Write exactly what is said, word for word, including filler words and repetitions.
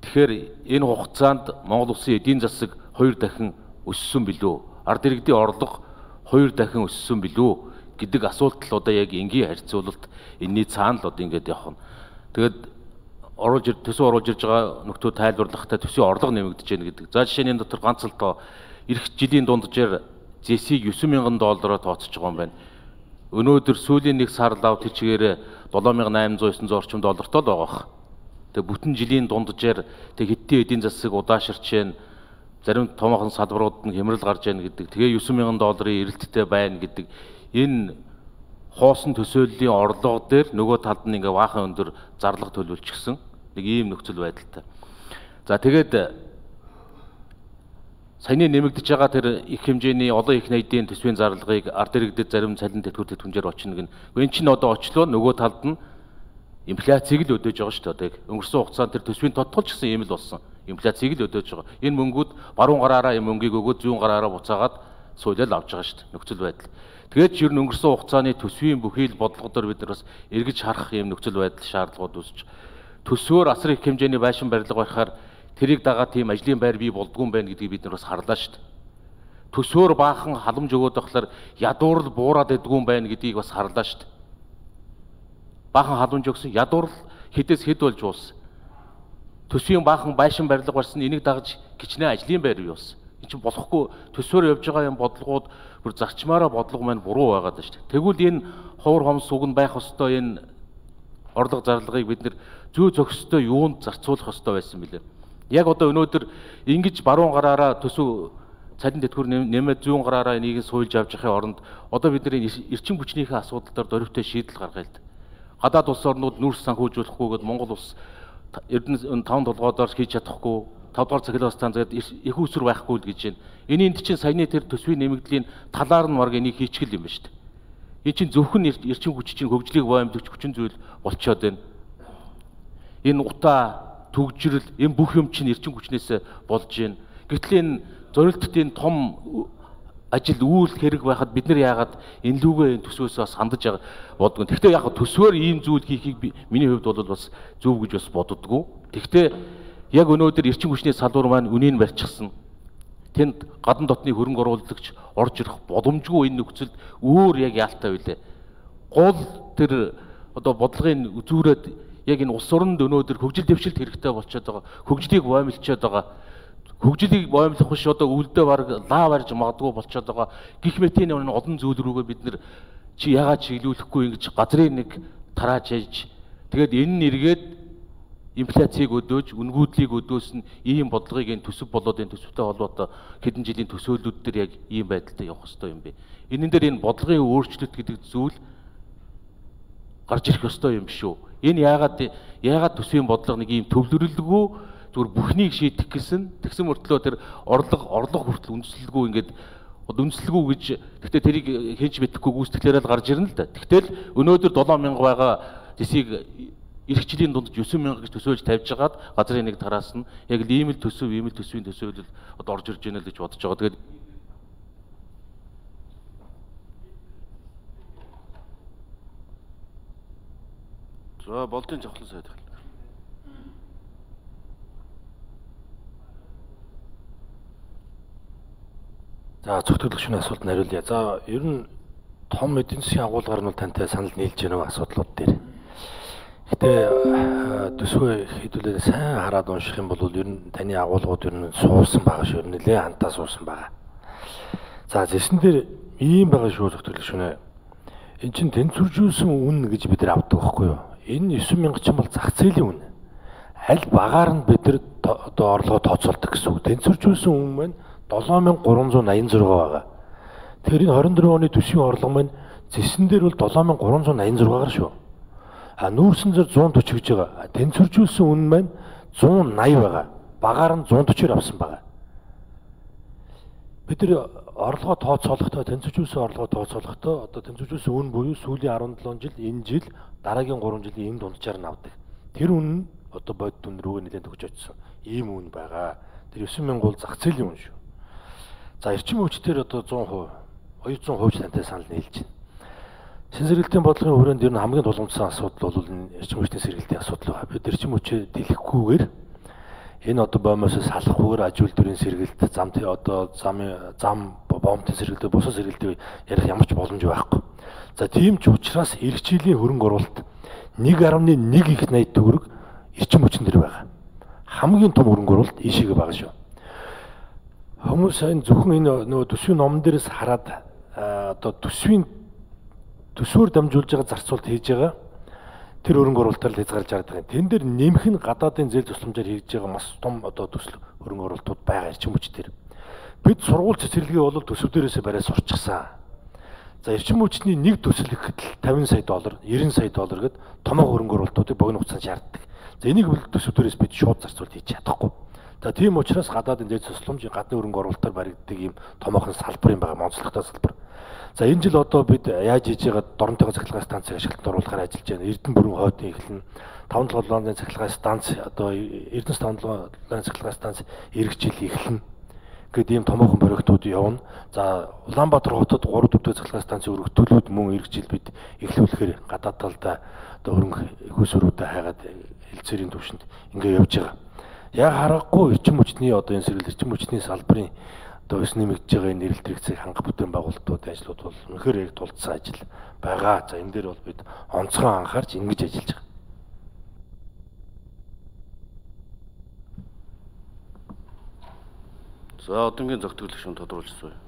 Тэгэхээр энэ хугацаанд Монгол улсын эдийн засаг хоёр дахин өссөн билүү? Ард иргэдийн орлого хоёр дахин өссөн билүү гэдэг асуулт л одоо яг энгийн харьцуулалт энэний цаана л одоо ингэж явах нь. Тэгээд оруулж төсөв оруулж ирж байгаа нөхдөө тайлбарлахдаа төсвийн орлого нэмэгдэж байна гэдэг. За жишээ нь энэ дотор ганц л тоо эх жилийн дунджаар зэсийг девять мянган доллараар тооцож байгаа юм байна. Өнөөдөр сүүлийн нэг сар лав тийчгээр seven thousand eight hundred nine hundred орчим доллартай л байгаа. Тэгээ бүтэн жилийн дунджаар тэг хэдийн эдийн засаг удааширч байна. Зарим томоохон салбарууд нь хямрал гарч байна гэдэг. Тэгээ девять мянган долларын эрэлттэй байна гэдэг. Энэ хоосон төсөөллийн орлого дээр нөгөө талд нь ингээ баахан өндөр зарлага төлөвлөчихсөн нэг ийм нөхцөл байдалтай. За тэгээд саяны нэмэгдэж байгаа тэр их хэмжээний олон их найдын төсвийн зарлагыг ард иргэдэд зарим цалин тэтгэврт түнжээр очно гэн. Энэ чинь одоо очлоо нөгөө талд нь инфляцийг л өдөөж байгаа шүү дээ. Өнгөрсөн хугацаанд тэр төсвийн тодтол ч гэсэн ийм л болсон. Инфляцийг л өдөөж байгаа. Энэ мөнгүүд баруун гараараа энэ мөнгийг өгөөд зүүн гараараа буцаагаад суулаад авч байгаа шүү дээ. Нөхцөл байдал. Тэгээд ч ер нь өнгөрсөн хугацааны төсвийн бүхий л бодлогодоор бид нар бас эргэж харах юм нөхцөл байдал шаардлагууд үүсч төсвөөр асар их хэмжээний байшин барилга байхаар тэрийг дагаад тийм ажлын байр бий болдгүй юм байна гэдгийг бид нар бас харлаа шүү дээ. Төсвөөр баахан халамж өгөөд байхлаар ядуурл буураад идэггүй юм байна гэдгийг бас харлаа шүү дээ. Баахан халамж өгсөн ядуурл хэдээс хэд болж уусан. Төсвийн баахан байшин барилга барьсан энийг дагаж гिचнээ ажлын байр бий болсон. Энэ чинь болохгүй төсвөөр явж байгаа юм бодлогууд бүр зарчмаараа бодлого маань буруу байгаад байна шүү дээ. Тэгвэл энэ ховор хомс уг нь байх ёстой энэ орлого зарлагыг бид нэр зүй зохистой юунд зарцуулах ёстой байсан бэлээ. Яг одоо өнөөдөр ингэж баруун гараараа төсөв цалин тэтгэвэр нэмээд зүүн гараараа энийг суйлж авч явахын оронд одоо бидний эрчим хүчнийхээ асуудал дээр дөрвтэй шийдэл гаргая л да. Гадаад улс орнууд нүүрс санхүүжүүлэхгүйгээд Монгол улс эрдэнэ таван толгойдоор хийж чадахгүй тавд дугаар цахилгаан станцад их усүр байхгүй л гэж байна. Энэ энд чинь саяны тэр төсвийн нэмэгдлийн талаар нь марг энийг хийчихэл юм ба шүү дээ. Энэ чинь зөвхөн эрчим хүч чинь хөгжлийг боомлогч хүчин зүйл болчиход байна. Энэ утаа төгжрөл энэ бүх юм чинь эрчим хүчнээс болж байна. Гэтэл энэ зорилттой энэ том ажил үйл хэрэг байхад бид нар яагаад энэ лүгээ энэ төсвөөс бас хандаж байгаа бодгоо. Тэгвэл яг төсвөөр ийм зүйл хийхийг миний хувьд бол бас зөв гэж бас боддгоо. Тэгвэл яг өнөөдөр эрчим хүчний салбар маань үнийг барьчихсан. Тэнд гадна дотны хөрөнгө оруулагч орж ирэх боломжгүй энэ нөхцөлд өөр яг яалтаа билээ. Гол тэр одоо бодлогын үзүүрээд яг энэ улс оронд өнөөдөр хөгжил дэвшилт хэрэгтэй болчиход байгаа. Хөгжлийг боомлчод байгаа. Хөгжлийг боомлох биш одоо үлдээ баг лав арж магадгүй болчиход байгаа. Гэх мэтийн олон зүйл рүүгээ бид нар чи яагаад чиглүүлэхгүй ингэж газрын нэг тарааж яж тэгээд энэ нь эргээд инфляцийг өдөөж, үнгүүдлийг өдөөсөн ийм бодлогыг энэ төсөв болоод энэ төсөвтэй холбоотой хэдэн жилийн төсөөллүүд төр яг ийм байдалтай явах ёстой юм бэ. Энэн дээр энэ бодлогын өөрчлөлт гэдэг зүйл гарч ирэх ёстой юм биш үү? Энэ яагаад яагаад төсвийн бодлого нэг ийм төвлөрөлгүй зүгээр бүхнийг шийдэх гэсэн тэгсэн мөртлөө тэр орлого орлого хүртэл үндэслэлгүй ингээд үндэслэлгүй гэж гэхдээ тэрийг хинч мэдэхгүй гүйцэтгэлээр л гарч ирнэ л да. Тэгтэл өнөөдөр seven thousand байгаа зэсийг эх жилийн дунд nine thousand гэж төсөөлж тавьж хагаад газрын нэг тараас нь яг л ийм л төсөв ийм л төсвийн төсөөлөл одоо орж ирж байна л гэж бодож байгаа. Тэгээд за болдын жавхлан сайд хэл. За зөвхөдлөгчний асуулт хариулъя. За ер нь том эдийн засгийн агуулгаар нь тантай санал нийлж байгаа асуудлууд дээр. Гэтэ төсвөө хэдүүлээ сайн хараад унших юм бол ер нь таны агуулгууд ер нь суусан байгаа шүү. Нэлээ хантаа суусан байгаа. За зэсэн дээр ийм байгаа шүү зөвхөдлөгчнээ. Эн чинь тэнцвэржүүлсэн үн гэж бид нар авдаг байхгүй юу? Энэ nine thousand ч юм бол зах зээлийн үн. Аль багаар нь бид нар одоо орлогоо тооцоолдог гэсэн үг. Тэнцвэржүүлсэн үн маань seven thousand three hundred eighty-six байгаа. Тэгэхээр энэ twenty twenty-four оны төсвийн орлого маань зэсэн дээр бол seven thousand three hundred eighty-six байгаа шүү. А нүүрсэн зэр one forty гэж байгаа. Тэнцвэржүүлсэн үн маань one eighty байгаа. Багаар нь one forty-оор авсан байгаа. Бид нар орлогоо тооцоолохдоо тэнцвэржүүлсэн орлогоо тооцоолохдоо одоо тэнцвэржүүлсэн үн буюу сүүлийн seventeen жил энэ жил дараагийн three жилийн энэ дунджаар нь авдаг. Тэр үн нь одоо бодит үн рүүгээ нэлээд төгж очсон. Ийм үн байгаа. Тэр nine thousand бол зах зээлийн үн шүү. За эрчим хүчээр одоо one hundred percent two hundred percent тантай санал нийлж байна. Шин сэргэлтийн бодлогын хүрээнд ер нь хамгийн тулгымдсан асуудал бол энэ эрчим хүчний сэргэлтийн асуудал байна. Бид эрчим хүчээ дэлгэхгүйгээр Энэ одоо боомоос салахгүйгээр аж үйлдвэрийн сэргэлт, зам одоо замын зам боомтын сэргэлт, бусад сэргэлтийг ярих ямар ч боломж байхгүй. За тийм ч учраас эрхчээлийн хөрөнгө оруулалт нэг гаруй нэг их найд төгрөг эрчим хүчин дээр байгаа. Хамгийн том хөрөнгө оруулалт ийшээгээ байгаа шүү. Хүмүүс энэ зөвхөн энэ нөгөө төсвийн номон дээрээс хараад одоо төсвийн төсвөөр дамжуулж байгаа зарцуулалт хийж байгаа тэр хөрөнгө оруулалтаар л хязгаарлаж хараад байгаа. Тэн дээр нэмэх нь гадаадын зээл тусламжаар хийж байгаа маш том одоо төсөл хөрөнгө оруулалтууд байгаа эрчим хүч дээр. Бид сургууль цэцэрлэгээ бол төсөв дээрээс барай сурчсан. За эрчим хүчний нэг төсөл гэхэд тавин сая доллар, найман сая доллар гэд томоо хөрөнгө оруулалтуудыг богино хугацаанд шаарддаг. За энийг бол төсөв дээрээс бид шууд зарцуулалт хийж чадахгүй. За тийм учраас гадаадын зээл тусламж гадны хөрөнгө оруулалтаар баригддаг юм томоохон салбар юм байгаа, онцлогтой салбар. За энэ жил одоо бид яаж хийж байгаа доронтойгоо цахилгаан станцыг ашиглалтанд оруулахаар ажиллаж байна. Эрдэнэ бүрэн хойдын эхлэн таван толгойн цахилгаан станц одоо Эрдэнэс таван толгойн цахилгаан станц эргэжил эхлэн гэдэг ийм томоохон проектууд явна. За Улаанбаатар хотод гурав дөрвдүгээр цахилгаан станцын өргөтүүлүүд мөн эргэжил бид эхлүүлэхээр гадаад талдаа одоо хөрөнгө хөөсөрүүдэд хайгаад хэлцээрийн төвшөнд ингэ явж байгаа. Яг харахгүй эрчим хүчний одоо энэ сэргэлт эрчим хүчний салбарын одоо өс нэмэгдэж байгаа энэ нэрэлт хэрэгцээг хангах бүтээн байгуулалтууд ажлууд бол үнэхээр яг тулдсан ажил байгаа. За энэ дээр бол бид онцгой анхаарч ингэж ажиллаж байгаа. За одоогийн зохицуулах шин тодруулж байна.